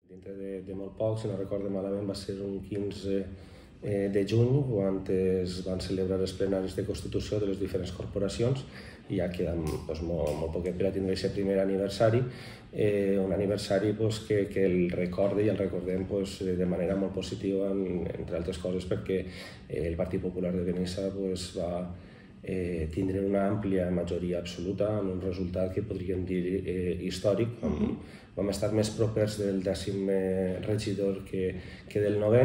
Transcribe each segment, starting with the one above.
Dintre de molt poc, si no recordo malament, va ser un 15 de juny, quan es van celebrar els plenaris de Constitució de les diferents corporacions, i ja queda molt poquet per a tindre aquest primer aniversari, un aniversari que el recorde i el recordem de manera molt positiva, entre altres coses perquè el Partit Popular de Benissa va tindre una àmplia majoria absoluta amb un resultat que podríem dir històric. Vam estar més propers del 10è regidor que del 9è,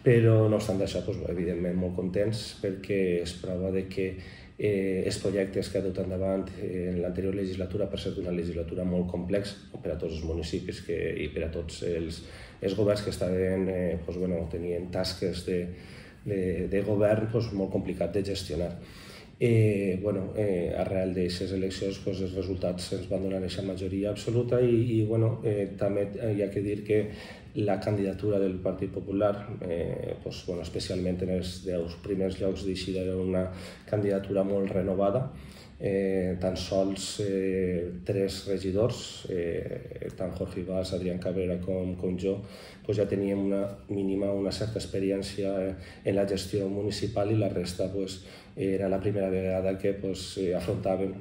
però no obstant això, evidentment molt contents perquè és prova que els projectes que ha dut endavant en l'anterior legislatura, per ser una legislatura molt complexa per a tots els municipis i per a tots els governs que tenien tasques de govern molt complicat de gestionar. Arrel d'aquestes eleccions els resultats ens van donar aquesta majoria absoluta i també hi ha que dir que la candidatura del Partit Popular, especialment en els 10 primers llocs d'eixida, era una candidatura molt renovada. Tan sols 3 regidors, tant Jorge Ibas, Adrián Cabrera com jo, ja teníem una certa experiència en la gestió municipal i la resta era la primera vegada que afrontaven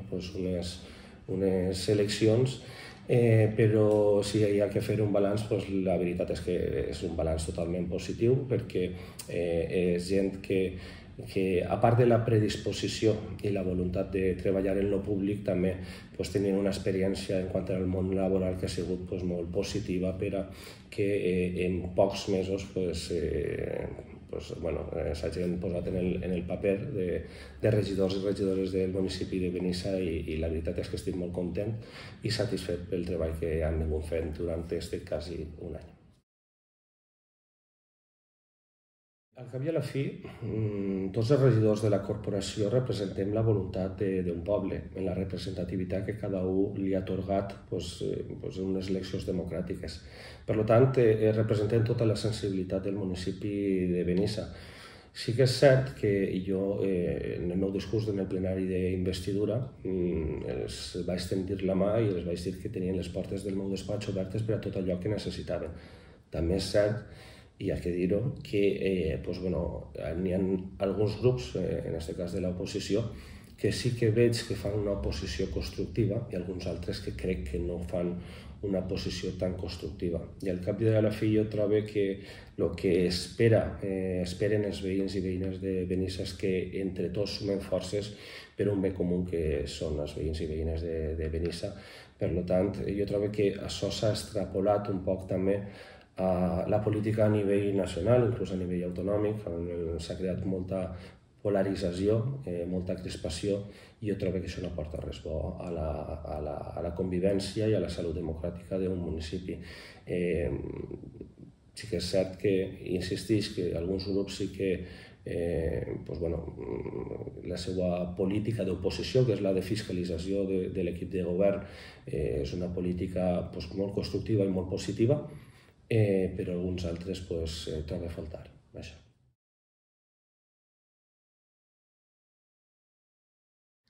unes eleccions, però si hi ha que fer un balanç, la veritat és que és un balanç totalment positiu perquè és gent que a part de la predisposició i la voluntat de treballar en lo públic també tenien una experiència en quant al món laboral que ha sigut molt positiva per a que en pocs mesos s'hagin posat en el paper de regidors i regidores del municipi de Benissa i la veritat és que estic molt content i satisfet pel treball que han vingut fent durant quasi un any. Al cap i a la fi, tots els regidors de la corporació representem la voluntat d'un poble, en la representativitat que cada un li ha atorgat en unes eleccions democràtiques. Per tant, representem tota la sensibilitat del municipi de Benissa. Sí que és cert que jo, en el meu discurs en el plenari d'investidura, els vaig tendir la mà i els vaig dir que tenien les portes del meu despatx obertes per a tot allò que necessitaven. També és cert, i hi ha que dir-ho, que n'hi ha alguns grups, en aquest cas de l'oposició, que sí que veig que fan una oposició constructiva i alguns altres que crec que no fan una posició tan constructiva. I al cap i a la fi jo trobo que el que esperen els veïns i veïnes de Benissa és que entre tots sumem forces per un bé comú que són els veïns i veïnes de Benissa. Per tant, jo trobo que això s'ha extrapolat un poc també a la política a nivell nacional, inclús a nivell autonòmic, on s'ha creat molta polarització, molta crispació, i jo trobo que això no porta res bo a la convivència i a la salut democràtica d'un municipi. Sí que és cert que insisteix que alguns grups sí que la seva política d'oposició, que és la de fiscalització de l'equip de govern, és una política molt constructiva i molt positiva, però alguns altres trobo a faltar.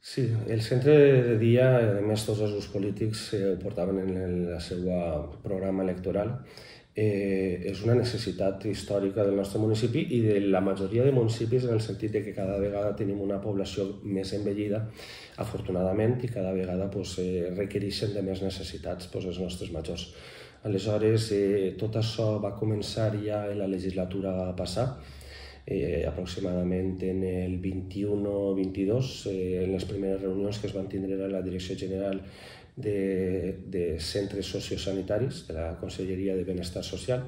Sí, el centre de dia, a més tots els grups polítics ho portaven en el seu programa electoral. És una necessitat històrica del nostre municipi i de la majoria de municipis, en el sentit que cada vegada tenim una població més envellida, afortunadament, i cada vegada requereixen de més necessitats els nostres majors. Aleshores, tot això va començar ja en la legislatura passada, aproximadament en el 21-22, en les primeres reunions que es van tindre a la Direcció General de Centres Sociosanitaris de la Conselleria de Benestar Social,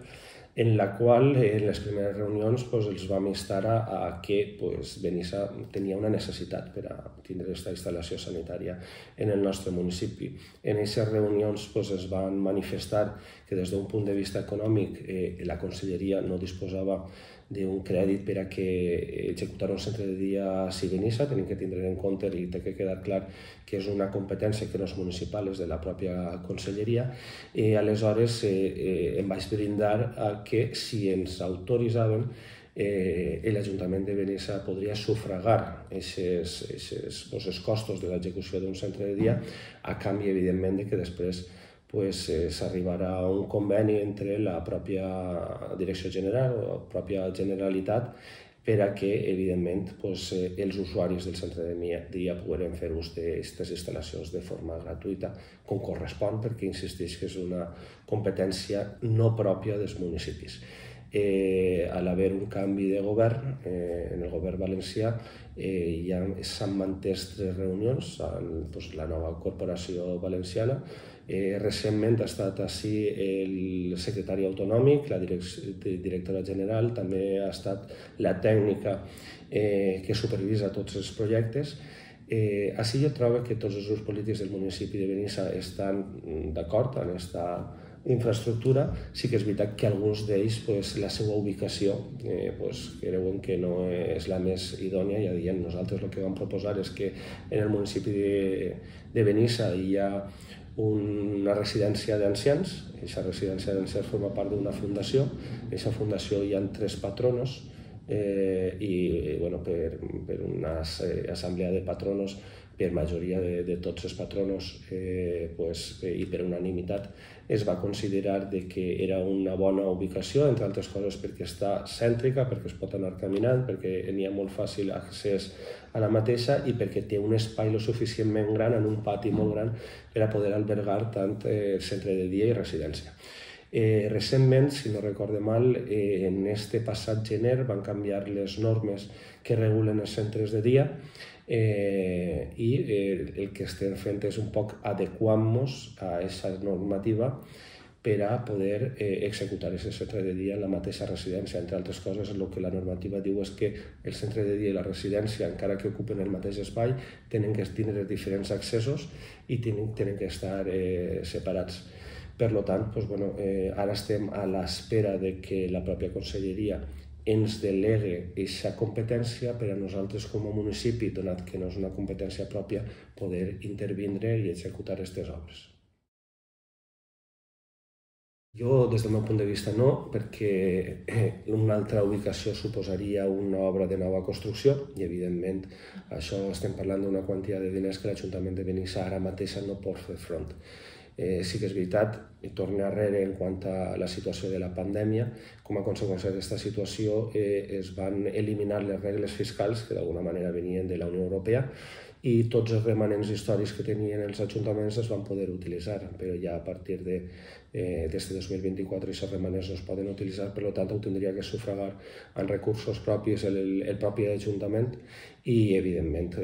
en la qual en les primeres reunions els vam instar a que Benissa tenia una necessitat per a tindre aquesta instal·lació sanitària en el nostre municipi. En aquestes reunions es van manifestar que des d'un punt de vista econòmic la Conselleria no disposava d'un crèdit per a que executar un centre de dia a Benissa. Tenim que tindre en compte i té que quedar clar que és una competència que no és municipal, és de la pròpia Conselleria. Aleshores em vaig brindar a que si ens autoritzaven l'Ajuntament de Benissa podria sufragar els costos de l'execució d'un centre de dia a canvi, evidentment, que després s'arribarà a un conveni entre la pròpia Direcció General o la pròpia Generalitat per a que, evidentment, els usuaris del centre de dia puguin fer ús d'aquestes instal·lacions de forma gratuïta, com correspon, perquè insisteix que és una competència no pròpia dels municipis. A l'haver un canvi de govern, en el govern valencià ja s'han mantès 3 reunions amb la nova corporació valenciana. Recentment ha estat així el secretari autonòmic, la directora general, també ha estat la tècnica que supervisa tots els projectes. Així jo trobo que tots els grups polítics del municipi de Benissa estan d'acord en aquesta infraestructura. Sí que és veritat que alguns d'ells la seva ubicació creuen que no és la més idònia. Ja diem, nosaltres el que vam proposar és que en el municipi de Benissa hi ha una residència d'ancians. Aquesta residència d'ancians forma part d'una fundació. En aquesta fundació hi ha 3 patronos i per una assemblea de patronos, per majoria de tots els patronos i per unanimitat es va considerar que era una bona ubicació, entre altres coses perquè està cèntrica, perquè es pot anar caminant, perquè n'hi ha molt fàcil accés a la mateixa i perquè té un espai lo suficientment gran, en un pati molt gran, per a poder albergar tant centre de dia i residència. Recentment, si no recorde mal, en este passat gener van canviar les normes que regulen els centres de dia i el que estem fent és un poc adequar-nos a aquesta normativa per a poder executar aquest centre de dia en la mateixa residència. Entre altres coses, el que la normativa diu és que el centre de dia i la residència, encara que ocupen el mateix espai, tenen que tindre diferents accessos i tenen que estar separats. Per tant, ara estem a l'espera que la pròpia conselleria ens delegue aquesta competència per a nosaltres com a municipi, donat que no és una competència pròpia, poder intervindre i executar aquestes obres. Jo, des del meu punt de vista, no, perquè una altra ubicació suposaria una obra de nova construcció i, evidentment, això estem parlant d'una quantitat de diners que l'Ajuntament de Benissa ara mateix no pot fer front. Sí que és veritat, i torno arrere en quant a la situació de la pandèmia, com a conseqüència d'aquesta situació es van eliminar les regles fiscals que d'alguna manera venien de la Unió Europea i tots els remanents històrics que tenien els ajuntaments es van poder utilitzar, però ja a partir d'este 2024 aquests remanents no es poden utilitzar, per tant ho tindria que sufragar amb recursos propis el propi ajuntament i evidentment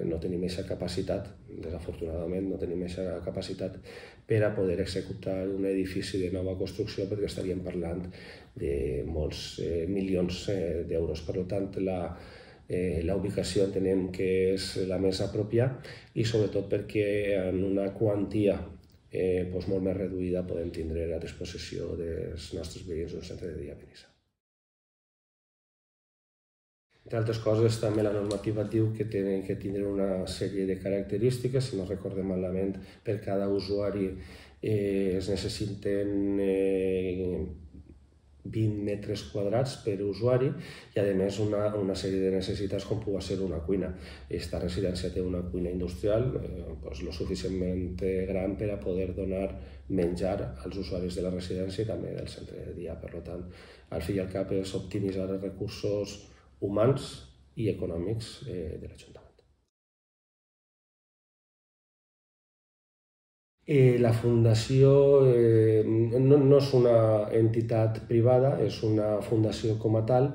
no tenim aquesta capacitat, desafortunadament no tenim aquesta capacitat per a poder executar un edifici de nova construcció perquè estaríem parlant de molts milions d'euros. Per tant, la ubicació entenem que és la més apropiada i sobretot perquè en una quantia molt més reduïda podem tindre a disposició dels nostres veïns un centre de dia a Benissa. Entre altres coses, també la normativa diu que tenen que tindre una sèrie de característiques, si no recordem malament, per cada usuari es necessiten 20 metres quadrats per usuari i, a més, una sèrie de necessitats com pugui ser una cuina. Aquesta residència té una cuina industrial lo suficientment gran per a poder donar menjar als usuaris de la residència i també del centre de dia. Per tant, al fi i al cap és optimitzar els recursos humans i econòmics de l'Ajuntament. La fundació no és una entitat privada, és una fundació com a tal,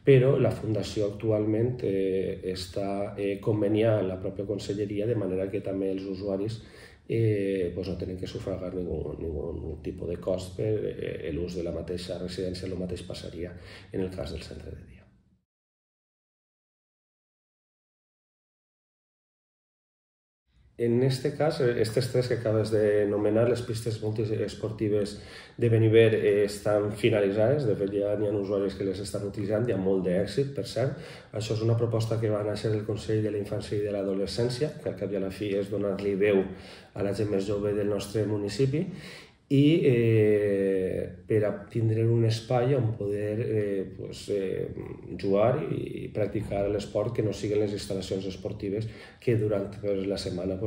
però la fundació actualment està conveniada amb la pròpia conselleria, de manera que també els usuaris no tenen que sufragar ningun tipus de cost per l'ús de la mateixa residència. El mateix passaria en el cas del centre de dia. En aquest cas, aquestes 3 que acabes d'anomenar, les pistes multiesportives de Beniver estan finalitzades. De fet, ja n'hi ha usuaris que les estan utilitzant, hi ha molt d'èxit, per cert. Això és una proposta que va néixer del Consell de la Infància i de l'Adolescència, que al cap i a la fi és donar-li veu a la gent més jove del nostre municipi. i per a tindre un espai on poder jugar i practicar l'esport que no siguin les instal·lacions esportives que durant la setmana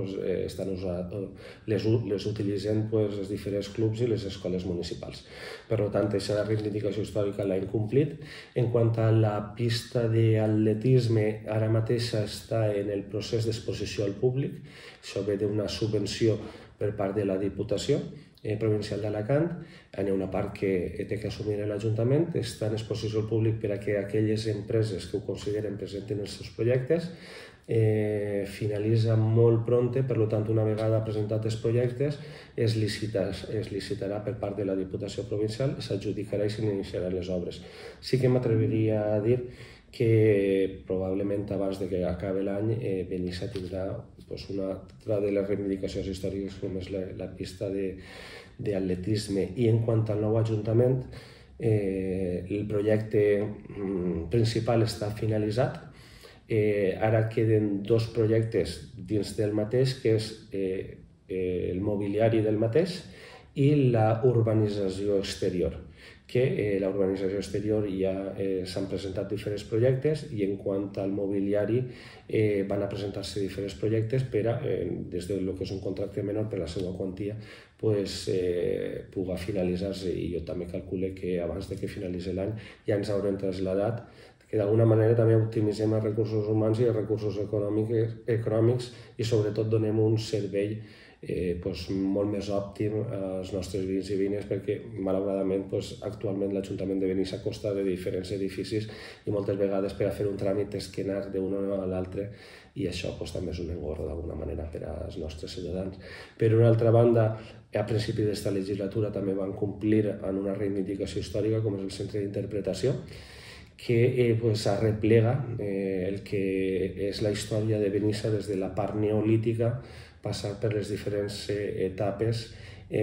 les utilitzen els diferents clubs i les escoles municipals. Per tant, aquesta reivindicació històrica l'ha incomplit. En quant a la pista d'atletisme, ara mateix està en el procés d'exposició al públic. Això ve d'una subvenció per part de la Diputació Provincial d'Alacant. Hi ha una part que té que assumir l'Ajuntament, està en exposició al públic per a que aquelles empreses que ho consideren presenten els seus projectes. Finalitza molt pronte, per tant, una vegada presentats els projectes, es licitarà per part de la Diputació Provincial, s'adjudicarà i s'iniciaran les obres. Sí que m'atreviria a dir que probablement abans que acabi l'any Benissa tindrà una altra de les reivindicacions històriques com és la pista d'atletisme. I en quant al nou Ajuntament, el projecte principal està finalitzat. Ara queden dos projectes dins del mateix, que és el mobiliari del mateix i la urbanització exterior, que la urbanització exterior ja s'han presentat diferents projectes i en quant al mobiliari van a presentar-se diferents projectes per a, des del que és un contracte menor per la seva quantia, pugui finalitzar-se, i jo també calculo que abans que finalitzi l'any ja ens haurem traslladat, que d'alguna manera també optimitzem els recursos humans i els recursos econòmics i sobretot donem un servei molt més òptim als nostres veïns i veïnes, perquè malauradament actualment l'Ajuntament de Benissa consta de diferents edificis i moltes vegades per a fer un tràmit és que anar d'un a l'altre, i això també és un engorro d'alguna manera per als nostres ciutadans. Per una altra banda, a principi d'esta legislatura també van complir en una reivindicació històrica com és el centre d'interpretació, que arreplega el que és la història de Benissa des de la part neolítica, passar per les diferents etapes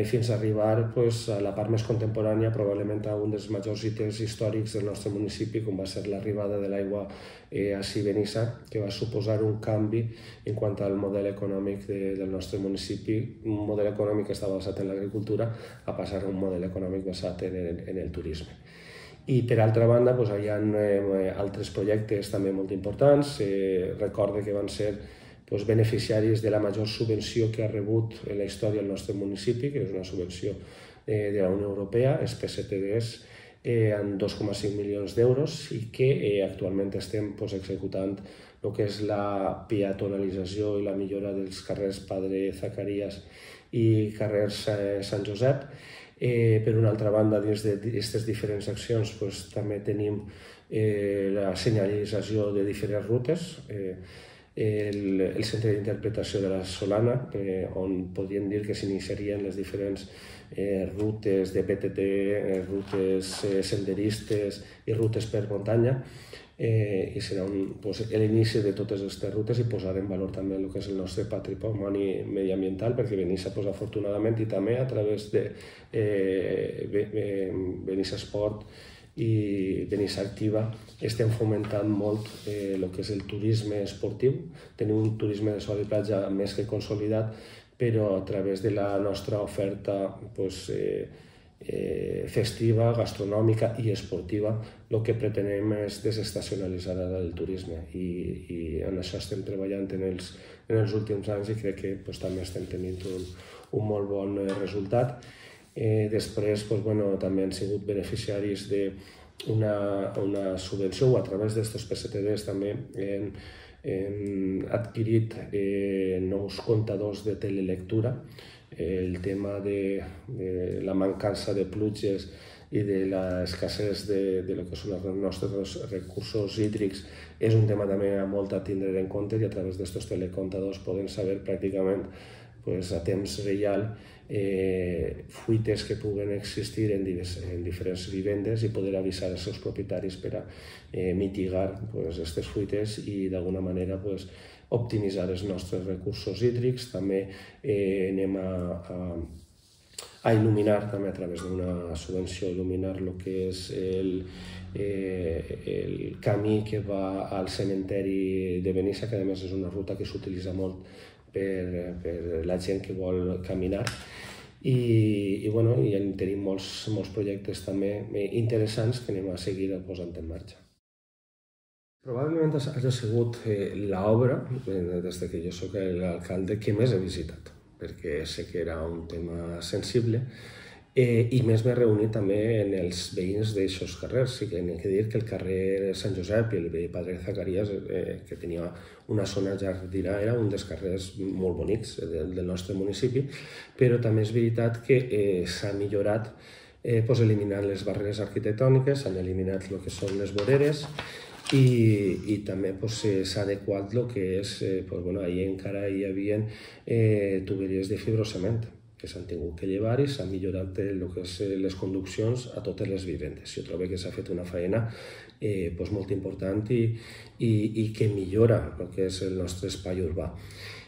fins a arribar a la part més contemporània, probablement a un dels majors ítems històrics del nostre municipi, com va ser l'arribada de l'aigua a Benissa, que va suposar un canvi en quant al model econòmic del nostre municipi, un model econòmic que estava basat en l'agricultura, a passar a un model econòmic basat en el turisme. I per altra banda hi ha altres projectes també molt importants. Recorde que van ser beneficiaris de la major subvenció que ha rebut en la història el nostre municipi, que és una subvenció de la Unió Europea, els PSTDs, amb 2,5 milions d'euros, i que actualment estem executant el que és la peatonalització i la millora dels carrers Padre Zacarías i carrers Sant Josep. Per una altra banda, dins d'aquestes diferents accions també tenim la senyalització de diferents rutes, el centre d'interpretació de la Solana, on podríem dir que s'iniciarien les diferents rutes de PTT, rutes senderistes i rutes per muntanya, i serà l'inici de totes aquestes rutes i posar en valor també el que és el nostre patrimoni mediambiental, perquè Benissa, afortunadament, i també a través de Benissa Esport i Benissa Activa, estem fomentant molt el que és el turisme esportiu. Tenim un turisme de sol i platja més que consolidat, però a través de la nostra oferta festiva, gastronòmica i esportiva, el que pretenem és desestacionalitzar el turisme, i en això estem treballant en els últims anys i crec que també estem tenint un molt bon resultat. Després també han sigut beneficiaris d'una subvenció, o a través d'aquests PSTDs també hem adquirit nous comptadors de telelectura. El tema de la mancança de pluges i de l'escassez de lo que són els nostres recursos hídrics és un tema també molt a tindre en compte, i a través d'aquests telecomptadors podem saber pràcticament a temps real fuites que puguen existir en diferents vivendes i poder avisar els seus propietaris per a mitigar aquestes fuites i d'alguna manera optimitzar els nostres recursos hídrics. També anem a il·luminar, també a través d'una subvenció, il·luminar el que és el camí que va al cementeri de Benissa, que a més és una ruta que s'utilitza molt per la gent que vol caminar. i tenim molts projectes també interessants que anem a seguir posant en marxa. Probablement hagi sigut l'obra, des que jo soc l'alcalde, que més he visitat, perquè sé que era un tema sensible i més m'he reunit també en els veïns d'aixòs carrers. Sí que n'he de dir que el carrer Sant Josep i el veí Padre Zacarías, que tenia una zona jardina, era un dels carrers molt bonics del nostre municipi, però també és veritat que s'ha millorat eliminant les barreres arquitectòniques, s'han eliminat el que són les voreres, i també s'ha adequat el que és, ahir encara hi havia tuberies de fibrocement que s'han tingut que llevar i s'han millorat el que és les conduccions a totes les vivendes. Jo trobo que s'ha fet una feina molt important i que millora el que és el nostre espai urbà.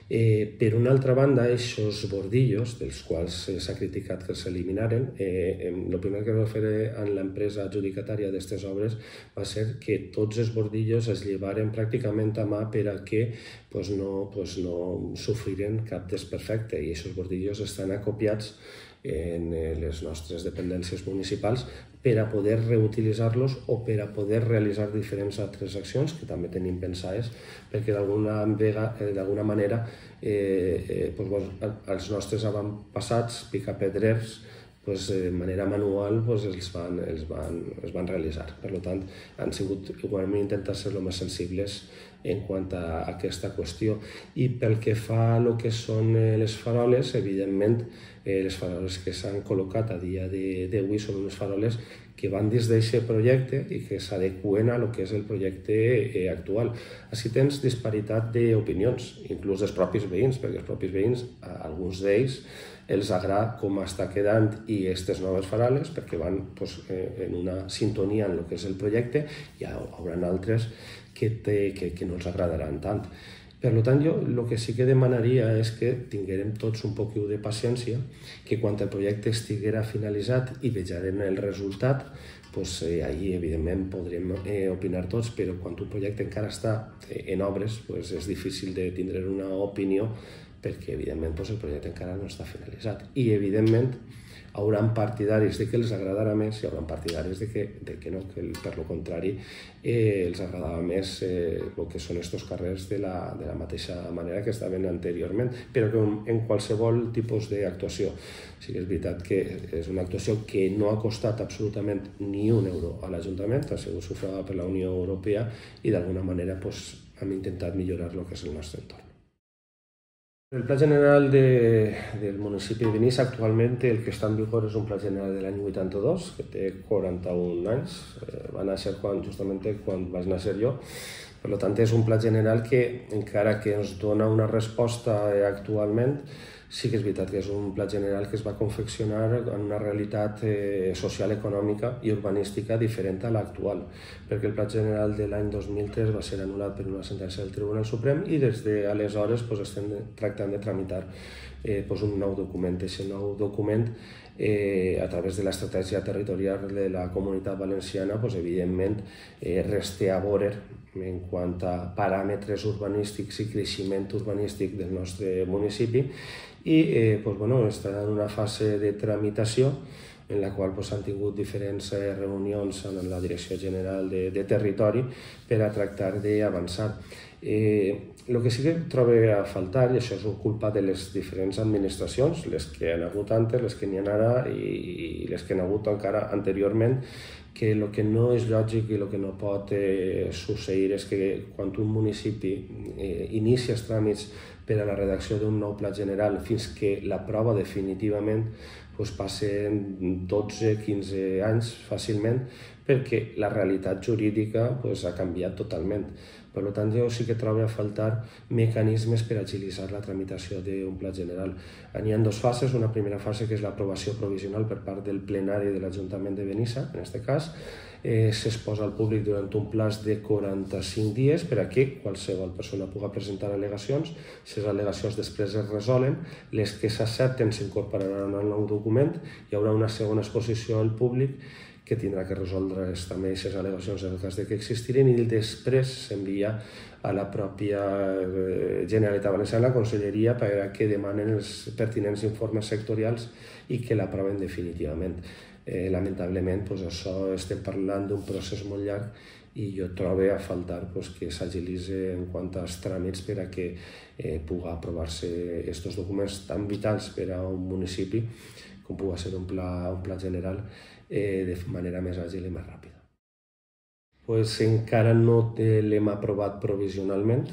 Per una altra banda, aquests bordillos, dels quals s'ha criticat que s'eliminaren, el primer que va fer en l'empresa adjudicatària d'aquestes obres va ser que tots els bordillos es llevaren pràcticament a mà per a que no sofriren cap desperfecte, i aquests bordillos estan acopiats en les nostres dependències municipals per a poder reutilitzar-los o per a poder realitzar diferents altres accions que també tenim pensades, perquè d'alguna manera els nostres avantpassats picapedrers de manera manual els van realitzar. Per tant, hem intentat ser el més sensibles en quant a aquesta qüestió. I pel que fa a el que són les faroles, evidentment, les faroles que s'han col·locat a dia d'avui són unes faroles que van dins d'aquest projecte i que s'adeqüen a el que és el projecte actual. Així tens disparitat d'opinions, inclús dels propis veïns, perquè els propis veïns, alguns d'ells, els agrada com està quedant i aquestes noves faroles perquè van en una sintonia en el que és el projecte, i hi haurà altres que no els agradaran tant. Per tant, jo el que sí que demanaria és que tinguérem tots un poc de paciència, que quan el projecte estiguera finalitzat i vejarem el resultat, ahir evidentment podrem opinar tots, però quan un projecte encara està en obres és difícil de tindre una opinió perquè evidentment el projecte encara no està finalitzat. I evidentment hi haurà partidaris de que els agradarà més i hi haurà partidaris de que no, que per lo contrari els agradava més el que són aquests carrers de la mateixa manera que estaven anteriorment, però que en qualsevol tipus d'actuació. Sí que és veritat que és una actuació que no ha costat absolutament ni un euro a l'Ajuntament, ha sigut sufragada per la Unió Europea i d'alguna manera hem intentat millorar el que és el nostre entorn. El Pla General del municipi de Benissa actualment el que està en vigor és un Pla General de l'any 82, que té 41 anys, va néixer justament quan vaig néixer jo. Per tant, és un Pla General que, encara que ens dona una resposta actualment, sí que és veritat que és un Pla General que es va confeccionar en una realitat social, econòmica i urbanística diferent a l'actual, perquè el Pla General de l'any 2003 va ser anul·lat per una sentència del Tribunal Suprem i des d'aleshores estem tractant de tramitar un nou document. Aquest nou document, a través de l'estratègia territorial de la Comunitat Valenciana, evidentment resta a veure en quant a paràmetres urbanístics i creixement urbanístic del nostre municipi, i està en una fase de tramitació en la qual s'han tingut diferents reunions amb la Direcció General de Territori per a tractar d'avançar. El que sí que trobo a faltar, i això és culpa de les diferents administracions, les que han hagut antes, les que n'hi ha ara i les que han hagut encara anteriorment, que el que no és lògic i el que no pot succeir és que quan un municipi inicia els tràmits per a la redacció d'un nou pla general fins que l'aprova definitivament passen 12-15 anys fàcilment, perquè la realitat jurídica ha canviat totalment. Per tant, jo sí que trobo a faltar mecanismes per agilitzar la tramitació d'un pla general. Hi ha dues fases. Una primera fase que és l'aprovació provisional per part del plenari de l'Ajuntament de Benissa, en aquest cas. S'exposa al públic durant un plaç de 45 dies per a que qualsevol persona pugui presentar al·legacions. Si les al·legacions després es resolen, les que s'accepten s'incorporaran al nou document, hi haurà una segona exposició al públic que tindrà que resoldre també aquestes al·legacions en el cas que existiren, i després s'envia a la pròpia Generalitat Valenciana, la Conselleria, perquè demanen els pertinents informes sectorials i que l'aproven definitivament. Lamentablement, això estem parlant d'un procés molt llarg i jo trobo a faltar que s'agilitzi en quant als tràmits per a que pugui aprovar-se aquests documents tan vitals per a un municipi com pugui ser un pla general de manera més àgil i més ràpida. Encara no l'hem aprovat provisionalment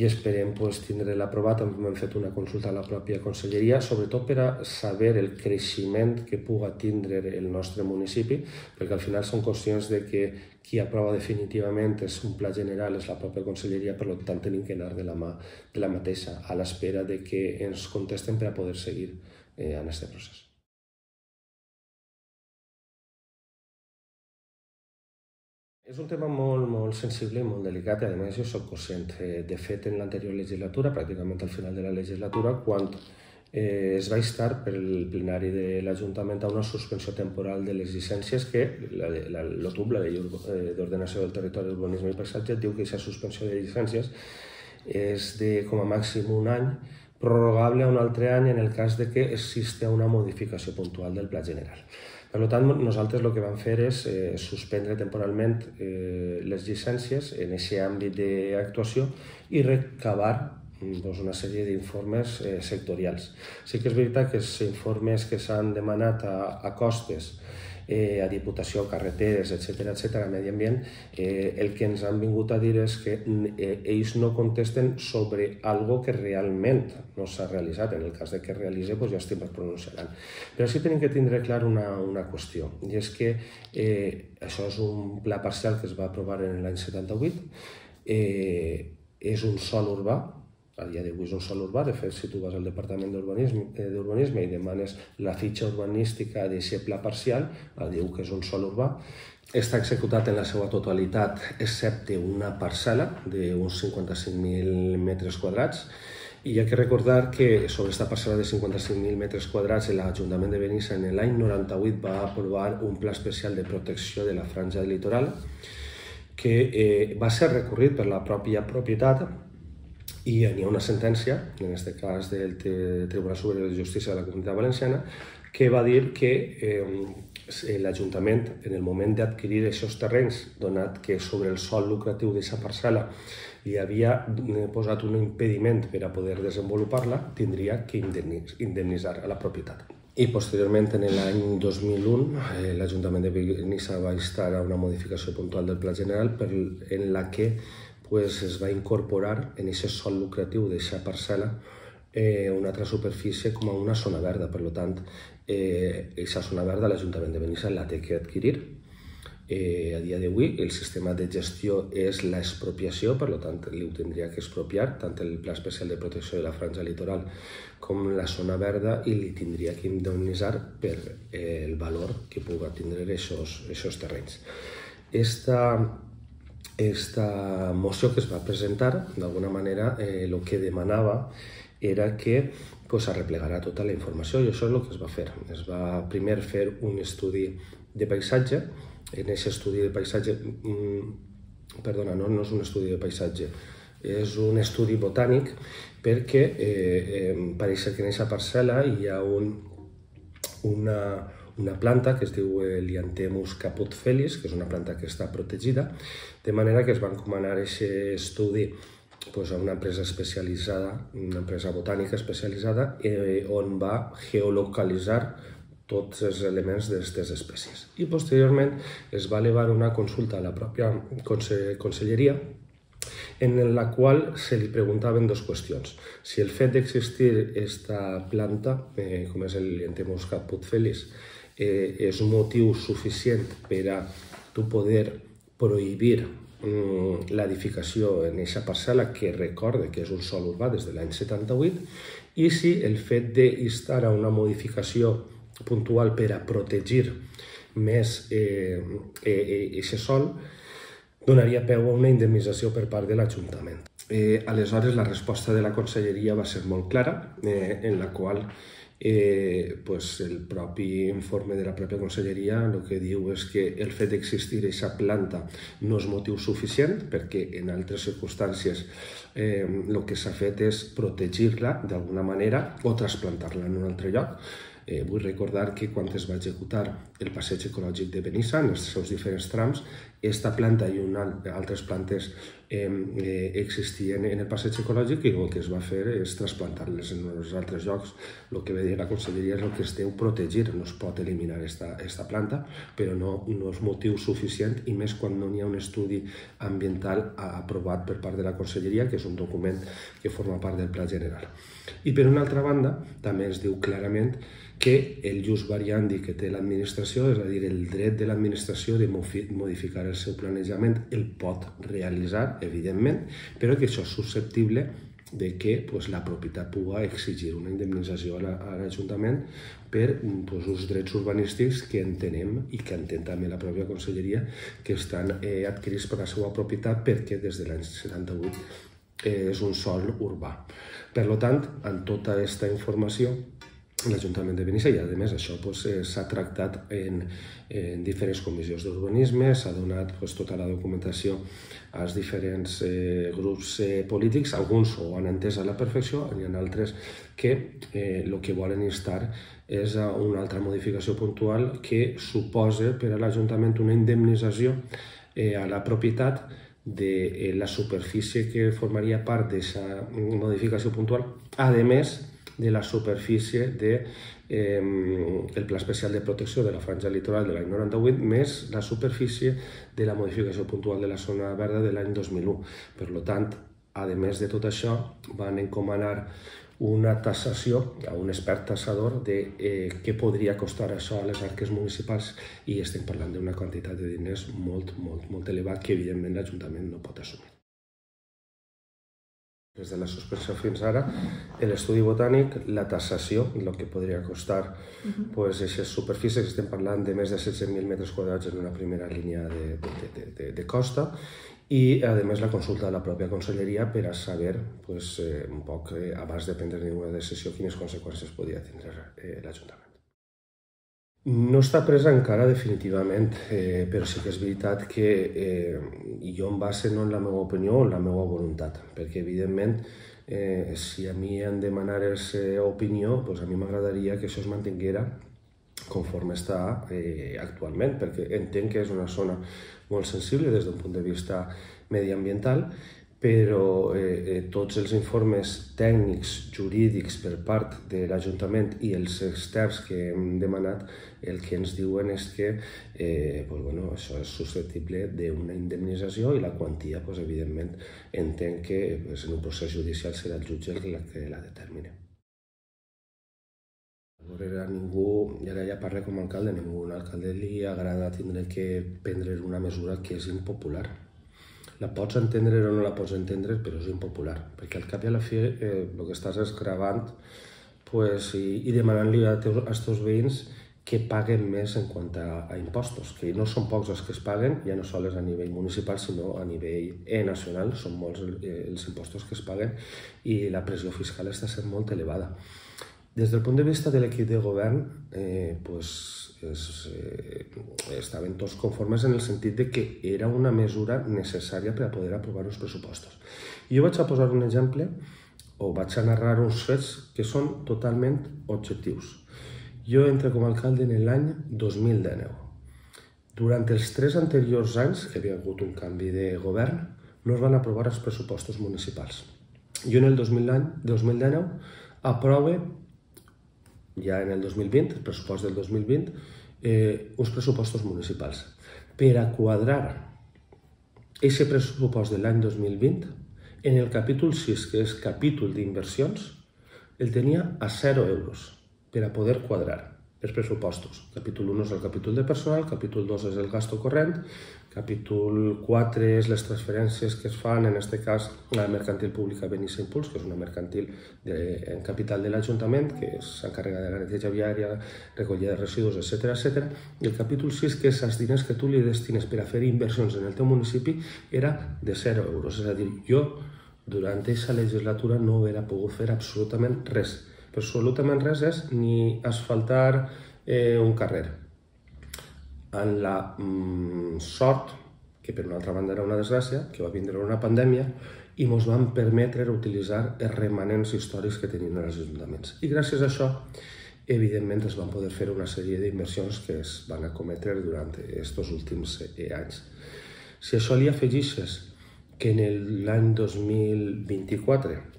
i esperem tindre-la aprovat. Hem fet una consulta a la pròpia Conselleria, sobretot per a saber el creixement que pugui tindre el nostre municipi, perquè al final som conscients que qui aprova definitivament és un pla general, és la pròpia Conselleria, per tant tenim que anar de la mà de la mateixa, a l'espera que ens contesten per a poder seguir en aquest procés. És un tema molt sensible i molt delicat i a més jo soc conscient. De fet, en l'anterior legislatura, pràcticament al final de la legislatura, quan es va instar per el plenari de l'Ajuntament a una suspensió temporal de les llicències que l'OTUB, la Llei d'Ordenació del Territori, Urbanisme i Paisatge, diu que aquesta suspensió de llicències és de com a màxim un any, prorrogable a un altre any en el cas que exista una modificació puntual del Pla General. Per tant, nosaltres el que vam fer és suspendre temporalment les llicències en aquest àmbit d'actuació i recabar una sèrie d'informes sectorials. Sí que és veritat que els informes que s'han demanat a costes, a Diputació, carreteres, etcètera, Medi Ambient, el que ens han vingut a dir és que ells no contesten sobre algo que realment no s'ha realitzat. En el cas que es realitzi, ja estem pronunciant. Però sí tenim que tindre clar una qüestió, i és que això és un pla parcial que es va aprovar en l'any 78, és un sòl urbà, a dia d'avui és un sòl urbà. De fet, si tu vas al Departament d'Urbanisme i demanes la fitxa urbanística d'aquest pla parcial, diu que és un sòl urbà. Està executat en la seva totalitat, excepte una parcel·la d'uns 55.000 metres quadrats. I hi ha que recordar que sobre aquesta parcel·la de 55.000 metres quadrats l'Ajuntament de Benissa en l'any 98 va aprovar un pla especial de protecció de la franja del litoral que va ser recorrit per la pròpia propietat i hi ha una sentència, en aquest cas del Tribunal Superior de Justícia de la Comunitat Valenciana, que va dir que l'Ajuntament, en el moment d'adquirir aquests terrenys, donat que sobre el sòl lucratiu d'aquesta parcel·la li havia posat un impediment per a poder desenvolupar-la, tindria que indemnitzar a la propietat. I posteriorment, en l'any 2001, l'Ajuntament de Benissa va instar a una modificació puntual del Pla General en la que es va incorporar en aquest sòl lucratiu d'aquesta parcel·la una altra superfície com a una zona verda. Per tant, aquesta zona verda l'Ajuntament de Benissa la té que adquirir. A dia d'avui el sistema de gestió és l'expropiació, per tant li ho tindria que expropiar tant el Pla Especial de Protecció de la Franja Litoral com la zona verda i li tindria que indemnitzar per el valor que pugui tindre aquests terrenys. Aquesta moció que es va presentar, d'alguna manera, el que demanava era que s'arreplegara tota la informació i això és el que es va fer. Es va primer fer un estudi de paisatge. En aquest estudi de paisatge, perdona, no és un estudi de paisatge, és un estudi botànic perquè pareix que en aquesta parcel·la hi ha una planta que es diu Lianthemus caput felis, que és una planta que està protegida, de manera que es va encomanar aquest estudi a una empresa especialitzada, una empresa botànica especialitzada, on va geolocalitzar tots els elements d'aquestes espècies. I posteriorment es va elevar una consulta a la pròpia Conselleria en la qual se li preguntaven dues qüestions. Si el fet d'existir aquesta planta, com és el Lianthemus caput felis, és un motiu suficient per a tu poder prohibir l'edificació en aquesta parcel·la, que recorde que és un sòl urbà des de l'any 78, i si el fet d'instar a una modificació puntual per a protegir més aquest sòl donaria peu a una indemnització per part de l'Ajuntament. Aleshores, la resposta de la Conselleria va ser molt clara, en la qual el propi informe de la pròpia conselleria el que diu és que el fet d'existir aquesta planta no és motiu suficient perquè en altres circumstàncies el que s'ha fet és protegir-la d'alguna manera o trasplantar-la en un altre lloc. Vull recordar que quan es va executar el passeig ecològic de Benissa, en els seus diferents trams, aquesta planta i altres plantes existien en el passeig ecològic i el que es va fer és trasplantar-les en els altres llocs. El que ve dir la conselleria és el que es deu protegir, no es pot eliminar aquesta planta, però no és motiu suficient i més quan no hi ha un estudi ambiental aprovat per part de la conselleria, que és un document que forma part del Pla General. I per una altra banda, també es diu clarament que el jus variandi que té l'administració, és a dir, el dret de l'administració de modificar el seu planejament, el pot realitzar, evidentment, però que això és susceptible de que la propietat pugui exigir una indemnització a l'Ajuntament per uns drets urbanístics que entenem i que entén també la pròpia conselleria que estan adquirits per la seva propietat perquè des de l'any 78 és un sòl urbà. Per tant, amb tota aquesta informació, l'Ajuntament de Benissa, i a més això s'ha tractat en diferents comissions d'urbanisme, s'ha donat tota la documentació als diferents grups polítics, alguns ho han entès a la perfecció, hi ha altres que el que volen instar és a una altra modificació puntual que suposa per a l'Ajuntament una indemnització a la propietat de la superfície que formaria part d'aquesta modificació puntual, a més de la superfície del Pla Especial de Protecció de la Franja Litoral de l'any 98 més la superfície de la modificació puntual de la zona verda de l'any 2001. Per tant, a més de tot això, van encomanar una tassació a un expert tassador de què podria costar això a les arques municipals i estem parlant d'una quantitat de diners molt, molt, molt elevat que evidentment l'Ajuntament no pot assumir. Des de la suspensió fins ara, l'estudi botànic, la tassació, el que podria costar aquestes superfícies, estem parlant de més de 700.000 metres quadrats en una primera línia de costa i, a més, la consulta de la pròpia conselleria per a saber, un poc, abans de prendre ninguna decisió, quines conseqüències podia tindre l'Ajuntament. No està presa encara definitivament, però sí que és veritat que jo em baso no en la meva opinió o en la meva voluntat, perquè evidentment si a mi em demanes opinió, a mi m'agradaria que això es mantinguera conforme està actualment, perquè entenc que és una zona molt sensible des d'un punt de vista mediambiental, però tots els informes tècnics, jurídics per part de l'Ajuntament i els externs que hem demanat, el que ens diuen és que això és susceptible d'una indemnització i la quantia, evidentment, entenc que en un procés judicial serà el jutge el que la determini. A ningú, i ara ja parlo com a alcalde, a ningú alcalde li agrada tindre que prendre una mesura que és impopular. La pots entendre o no la pots entendre, però és impopular, perquè al cap i a la fi el que estàs és gravant i demanant-li als teus veïns que paguen més en quant a impostos, que no són pocs els que es paguen, ja no sols a nivell municipal, sinó a nivell nacional, són molts els impostos que es paguen i la pressió fiscal està sent molt elevada. Des del punt de vista de l'equip de govern, estaven tots conformes en el sentit que era una mesura necessària per a poder aprovar uns pressupostos. Jo vaig a posar un exemple, o vaig a narrar uns fets que són totalment objectius. Jo entro com a alcalde en l'any 2019. Durant els 3 anteriors anys, que havia hagut un canvi de govern, no es van aprovar els pressupostos municipals. Jo en el 2019 aprove, ja en el 2020, el pressupost del 2020, uns pressupostos municipals. Per a quadrar aquest pressupost de l'any 2020, en el capítol 6, que és capítol d'inversions, el tenia a 0 euros per a poder quadrar els pressupostos. Capítol 1 és el capítol de personal, capítol 2 és el gasto corrent, capítol 4 és les transferències que es fan, en aquest cas, a la mercantil pública Benissa Impuls, que és una mercantil en capital de l'Ajuntament, que s'encarrega de la neteja viària, recollida de residus, etc. I el capítol 6, que és els diners que tu li destines per a fer inversions en el teu municipi, era de 0 euros. És a dir, jo, durant aquesta legislatura, no hauria pogut fer absolutament res però absolutament res és ni asfaltar un carrer. En la sort, que per una altra banda era una desgràcia, que va vindre una pandèmia i ens van permetre utilitzar els remanents històrics que tenien els ajuntaments. I gràcies a això, evidentment, es van poder fer una sèrie d'inversions que es van acometre durant aquests últims anys. Si això li afegixes que en l'any 2024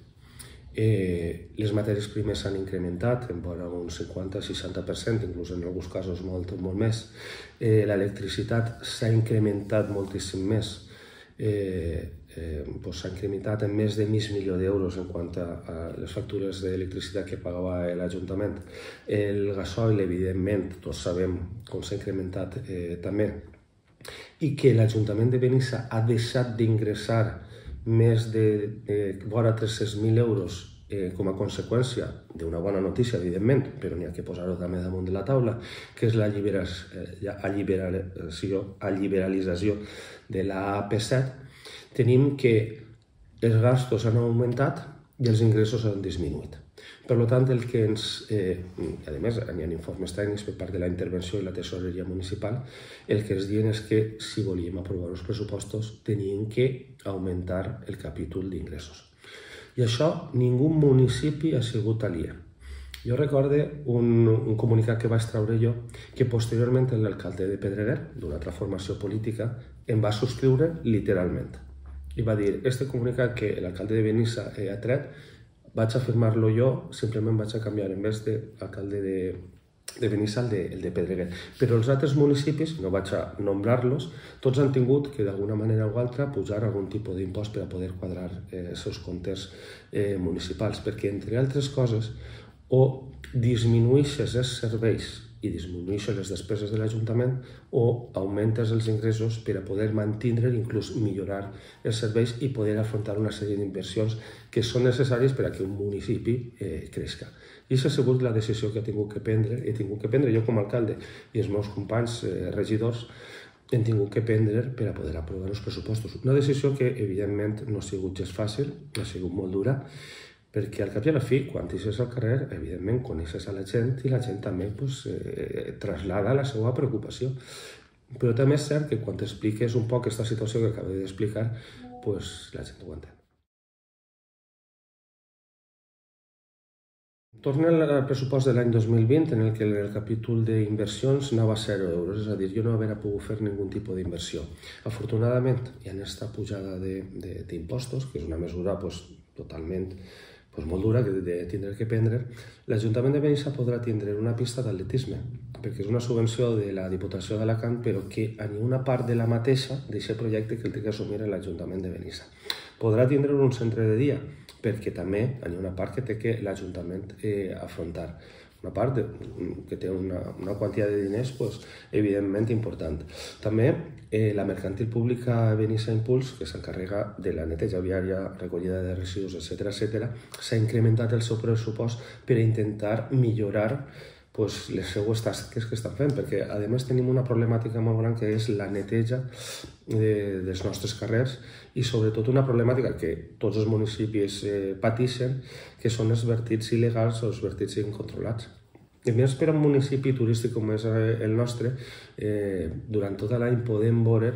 les matèries primeres s'han incrementat en vora un 50-60%, inclús en alguns casos molt més. L'electricitat s'ha incrementat moltíssim més, s'ha incrementat en més de mig milió d'euros en quant a les factures d'electricitat que pagava l'Ajuntament. El gasoil, evidentment, tots sabem com s'ha incrementat també, i que l'Ajuntament de Benissa ha deixat d'ingressar més de vora 300.000 euros com a conseqüència d'una bona notícia, evidentment, però n'hi ha que posar-ho també damunt de la taula, que és la liberalització de la AP7, tenim que els gastos han augmentat i els ingressos han disminuït. Per tant, el que ens... a més, hi ha informes tècnics per part de la intervenció i la tesoreria municipal, el que ens diuen és que si volíem aprovar els pressupostos teníem que augmentar el capítol d'ingressos. I això ningú municipi ha sigut aliè. Jo recordo un comunicat que vaig treure jo, que posteriorment l'alcalde de Pedreguer, d'una altra formació política, em va subscriure literalment. I va dir, este comunicat que l'alcalde de Benissa ha tret, vaig a firmar-lo jo, simplement vaig a canviar, en vez d'alcalde de Benissa, el de Pedreguer. Però els altres municipis, no vaig a nombrar-los, tots han tingut que d'alguna manera o altra pujar algun tipus d'impost per a poder quadrar els seus comptes municipals, perquè, entre altres coses, o disminueixes els serveis i disminueixes les despeses de l'Ajuntament o augmentes els ingressos per a poder mantenir i inclús millorar els serveis i poder afrontar una sèrie d'inversions que són necessàries per a que un municipi creixi. I aquesta ha sigut la decisió que he tingut que prendre jo com a alcalde i els meus companys regidors hem tingut que prendre per a poder aprovar els pressupostos. Una decisió que, evidentment, no ha sigut gens fàcil, ha sigut molt dura, perquè al cap i a la fi, quan eixes al carrer, evidentment coneixes a la gent i la gent també trasllada la seva preocupació. Però també és cert que quan t'expliques un poc aquesta situació que acabo d'explicar, la gent ho entén. Torna al pressupost de l'any 2020, en el que el capítol d'inversions anava a 0 euros, és a dir, jo no havia pogut fer ningú tipus d'inversió. Afortunadament, hi ha aquesta pujada d'impostos, que és una mesura totalment molt dura de tindre que prendre. L'Ajuntament de Benissa podrà tindre una pista d'atletisme, perquè és una subvenció de la Diputació d'Alacant, però que a una part de la mateixa d'aquest projecte que el té que assumir l'Ajuntament de Benissa. Podrà tindre un centre de dia, perquè també hi ha una part que té que l'Ajuntament afrontar. Una part que té una quantitat de diners evidentment important. També la mercantil pública Benissa Impuls, que s'encarrega de la neteja viària, recollida de residus, etc., s'ha incrementat el seu pressupost per intentar millorar les seues tasques que estan fent, perquè a més tenim una problemàtica molt gran que és la neteja dels nostres carrers i sobretot una problemàtica que tots els municipis pateixen, que són els vertits il·legals o els vertits incontrolats. A més, per a un municipi turístic com és el nostre, durant tot l'any podem veure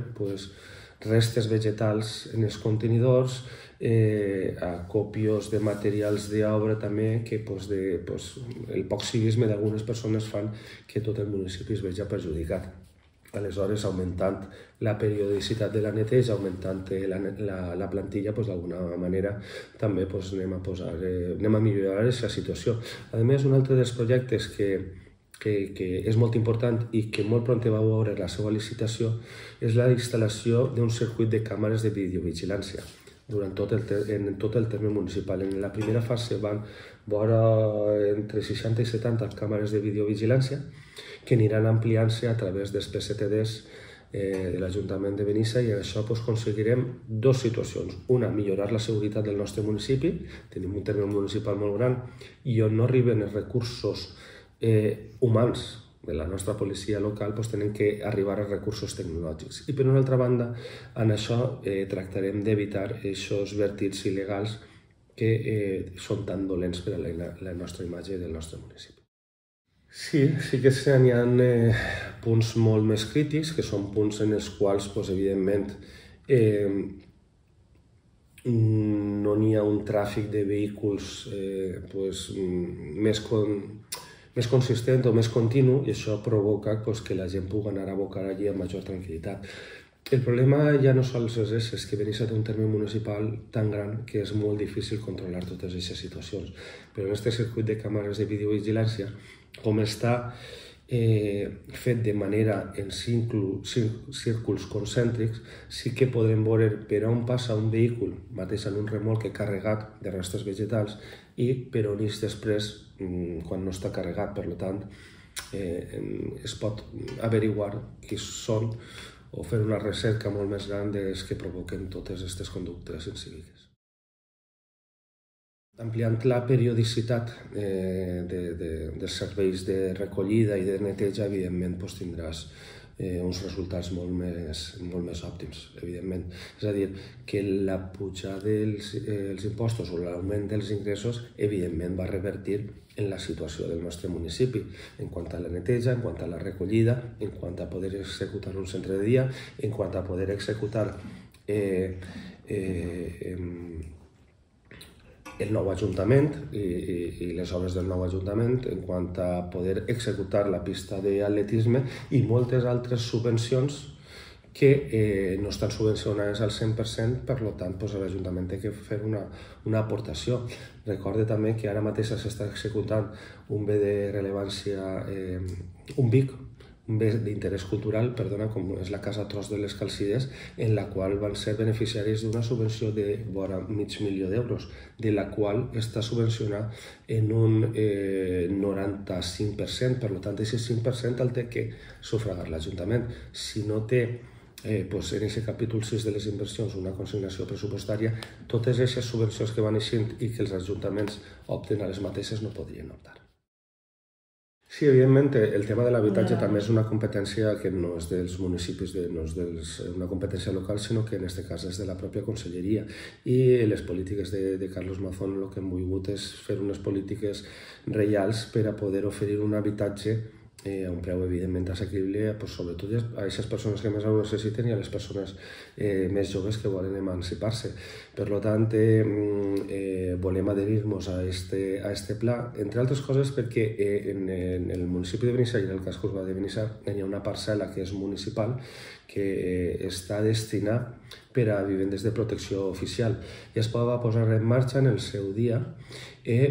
restes vegetals en els contenidors, acopios de materials d'obra també, que el poc civisme d'algunes persones fan que tot el municipi es vegi perjudicat. Aleshores, augmentant la periodicitat de la neteja, augmentant la plantilla, d'alguna manera també anem a millorar aquesta situació. A més, un altre dels projectes que és molt important i que molt pront va veure la seva licitació és la instal·lació d'un circuit de càmeres de videovigilància en tot el terme municipal. En la primera fase van veure entre 60 i 70 càmeres de videovigilància que aniran ampliant-se a través dels PCTDs de l'Ajuntament de Benissa i en això aconseguirem dues situacions. Una, millorar la seguretat del nostre municipi. Tenim un terme municipal molt gran i on no arriben els recursos humans de la nostra policia local, tenen que arribar als recursos tecnològics. I per una altra banda, en això tractarem d'evitar aquests vertits il·legals que són tan dolents per a la nostra imatge del nostre municipi. Sí que n'hi ha punts molt més crítics, que són punts en els quals, evidentment, no n'hi ha un tràfic de vehicles més consistent o més continu, i això provoca que la gent pugui anar a abocar allí amb major tranquil·litat. El problema ja no sols és això, és que Benissa té un terme municipal tan gran que és molt difícil controlar totes aquestes situacions. Però en aquest circuit de càmeres de videovigilància, com està fet de manera en círculs concèntrics, sí que podem veure per on passa un vehicle, mateix en un remolc carregat de restes vegetals, i per on és després quan no està carregat. Per tant, es pot averiguar qui són o fer una recerca molt més gran dels que provoquen totes aquestes conductes incíviques. Ampliant la periodicitat dels serveis de recollida i de neteja, evidentment tindràs uns resultats molt més òptims, evidentment. És a dir, que la pujada dels impostos o l'augment dels ingressos, evidentment, va revertir en la situació del nostre municipi, en quant a la neteja, en quant a la recollida, en quant a poder executar un centre de dia, en quant a poder executar el nou Ajuntament i les obres del nou Ajuntament, en quant a poder executar la pista d'atletisme i moltes altres subvencions que no estan subvencionades al 100%, per tant, l'Ajuntament té que fer una aportació. Recorde també que ara mateix s'està executant un bé de rellevància, un BIC, un bé d'interès cultural, com és la Casa Tros de les Calcides, en la qual van ser beneficiaris d'una subvenció de vora $500.000 d'euros, de la qual està subvencionada en un 95%, per tant, aquest 5% el té que sufragar l'Ajuntament. Si no té en aquest capítol 6 de les inversions una consignació pressupostària, totes aquestes subvencions que van eixint i que els ajuntaments opten a les mateixes no podrien optar. Sí, evidentment, el tema de l'habitatge també és una competència que no és dels municipis, no és una competència local, sinó que en aquest cas és de la pròpia conselleria. I les polítiques de Carlos Mazón el que han volgut és fer unes polítiques reials per a poder oferir un habitatge a un preu evidentment assequible, sobretot a aquestes persones que més ho necessiten i a les persones més joves que volen emancipar-se. Per tant, volem adherir-nos a aquest pla, entre altres coses perquè en el municipi de Benissa i en el casc urbà de Benissa hi ha una parcel·la que és municipal que està destinada per a vivendes de protecció oficial. Ja es va posar en marxa en el seu dia,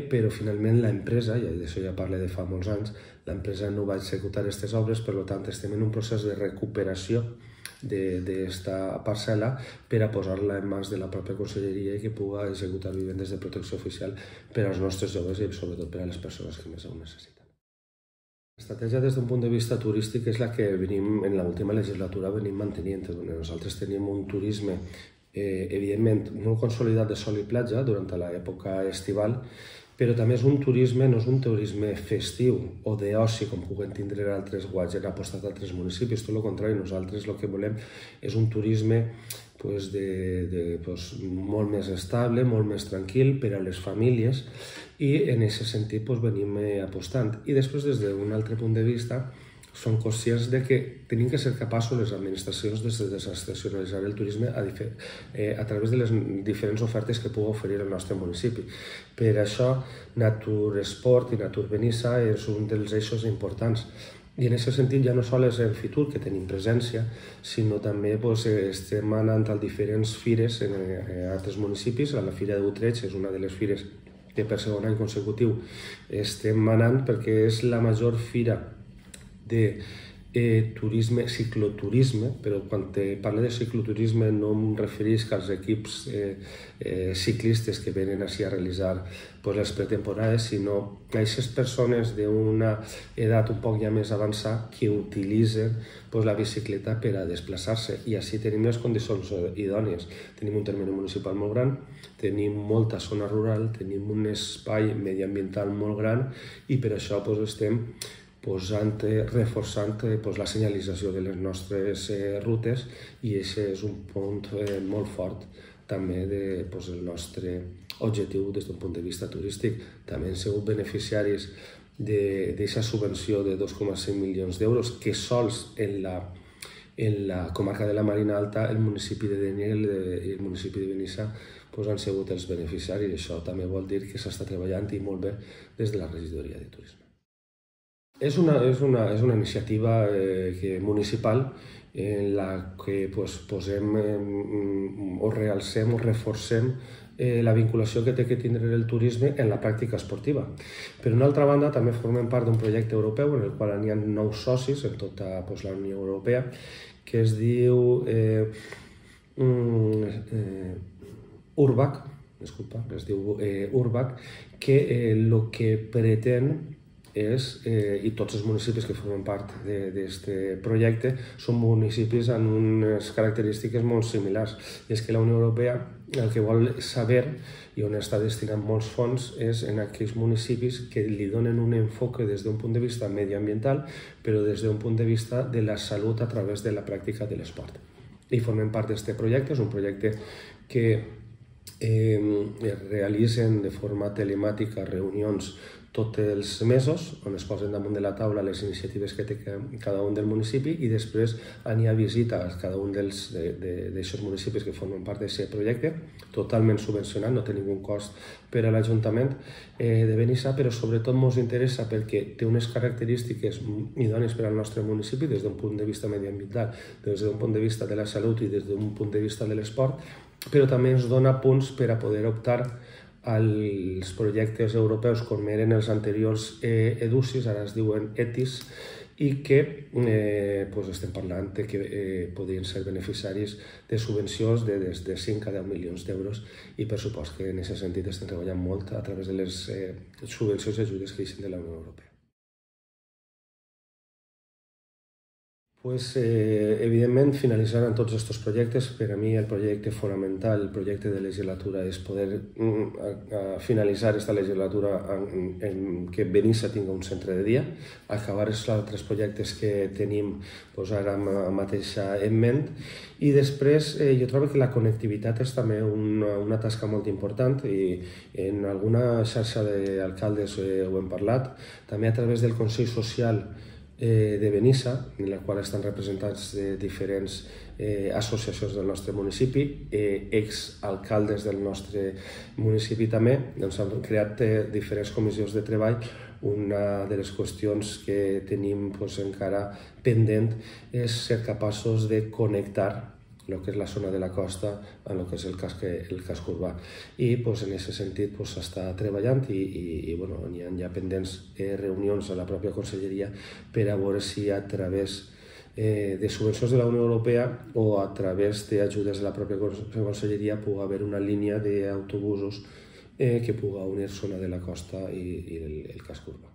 però finalment l'empresa, i d'això ja parlo de fa molts anys, l'empresa no va executar aquestes obres, per tant estem en un procés de recuperació d'esta parcel·la per a posar-la en mans de la pròpia conselleria i que pugui executar vivendes de protecció oficial per als nostres joves i sobretot per a les persones que més ho necessiten. L'estratègia des d'un punt de vista turístic és la que en l'última legislatura venim mantenint. Nosaltres tenim un turisme evidentment molt consolidat de sol i platja durant l'època estival, però també és un turisme, no és un turisme festiu o d'oci com puguen tindre altres guats i han apostat a altres municipis, tot el contrari, nosaltres el que volem és un turisme molt més estable, molt més tranquil per a les famílies i en aquest sentit venim apostant. I després, des d'un altre punt de vista, són conscients que tenim que ser capaços, les administracions, de desestacionalitzar el turisme a través de les diferents ofertes que pugui oferir el nostre municipi. Per això, Natur Esport i Natur Benissa és un dels eixos importants. I en aquest sentit ja no sols en Fitur, que tenim presència, sinó també estem anant a diferents fires en altres municipis. La Fira d'Utrecht és una de les fires que per segon any consecutiu estem anant perquè és la major fira de cicloturisme, però quan parlo de cicloturisme no em referisc als equips ciclistes que venen així a realitzar les pretemporades, sinó a aquestes persones d'una edat un poc ja més avançada que utilitzen la bicicleta per a desplaçar-se. I així tenim les condicions idònies. Tenim un termini municipal molt gran, tenim molta zona rural, tenim un espai mediambiental molt gran i per això estem reforçant la senyalització de les nostres rutes i aquest és un punt molt fort també del nostre objectiu des d'un punt de vista turístic. També han sigut beneficiaris d'aquesta subvenció de 2,5 milions d'euros que sols en la comarca de la Marina Alta, el municipi de Dénia i el municipi de Benissa han sigut els beneficiaris. Això també vol dir que s'està treballant i molt bé des de la regidoria de turisme. És una iniciativa municipal en la que posem o realcem o reforcem la vinculació que té que tindre el turisme en la pràctica esportiva. Per una altra banda, també formem part d'un projecte europeu en el qual hi ha 9 socis en tota la Unió Europea que es diu URBAC, que el que pretén és, i tots els municipis que formen part d'aquest projecte són municipis amb unes característiques molt similars. I és que la Unió Europea el que vol saber i on està destinant molts fons és en aquells municipis que li donen un enfoc des d'un punt de vista medioambiental, però des d'un punt de vista de la salut a través de la pràctica de l'esport. I formem part d'aquest projecte. És un projecte que es realitzen de forma telemàtica reunions tots els mesos, on es posen damunt de la taula les iniciatives que té cada un del municipi i després hi ha visita a cada un d'aquests municipis que formen part d'aquest projecte, totalment subvencionat, no té ningú cost per a l'Ajuntament de Benissa, però sobretot ens interessa perquè té unes característiques idònies per al nostre municipi des d'un punt de vista medioambiental, des d'un punt de vista de la salut i des d'un punt de vista de l'esport, però també ens dona punts per a poder optar als projectes europeus com eren els anteriors EDUSIS, ara es diuen ETIS, i que estem parlant que podrien ser beneficiaris de subvencions de des de 5 a 10 milions d'euros i per supost que en aquest sentit estem treballant molt a través de les subvencions i ajudes que deixen de la Unió Europea. Evidentment, finalitzaran tots aquests projectes. Per a mi el projecte fonamental, el projecte de legislatura, és poder finalitzar aquesta legislatura en que Benissa tingui un centre de dia, acabar els altres projectes que tenim ara mateix en ment i després jo trobo que la connectivitat és també una tasca molt important i en alguna xarxa d'alcaldes ho hem parlat, també a través del Consell Social de Benissa, en la qual estan representats diferents associacions del nostre municipi, exalcaldes del nostre municipi també, han creat diferents comissions de treball. Una de les qüestions que tenim encara pendent és ser capaços de connectar el que és la zona de la costa amb el que és el casc urbà. I en aquest sentit s'està treballant i hi ha pendents reunions a la pròpia conselleria per a veure si a través de subvencions de la Unió Europea o a través d'ajudes de la pròpia conselleria pugui haver una línia d'autobusos que pugui unir zona de la costa i el casc urbà.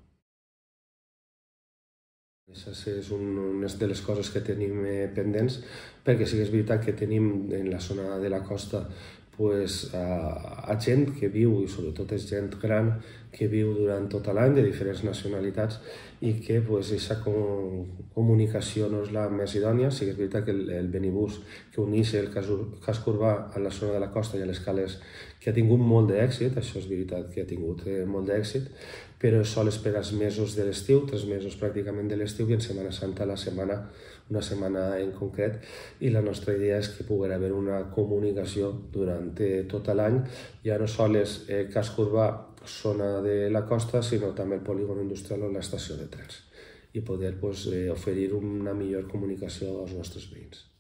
Aquesta és una de les coses que tenim pendents, perquè sí que és veritat que tenim en la zona de la costa gent que viu, i sobretot és gent gran, que viu durant tot l'any de diferents nacionalitats i que aquesta comunicació no és la més idònia. Sí que és veritat que el Benibús que uneix el casc urbà a la zona de la costa i a les cales que ha tingut molt d'èxit, això és veritat que ha tingut molt d'èxit, però és sols per als mesos de l'estiu, 3 mesos pràcticament de l'estiu i en Setmana Santa una setmana en concret, i la nostra idea és que pugui haver una comunicació durant tot l'any, ja no sols casc urbà, zona de la costa, sinó també el polígon industrial o l'estació de trens, i poder oferir una millor comunicació als nostres veïns.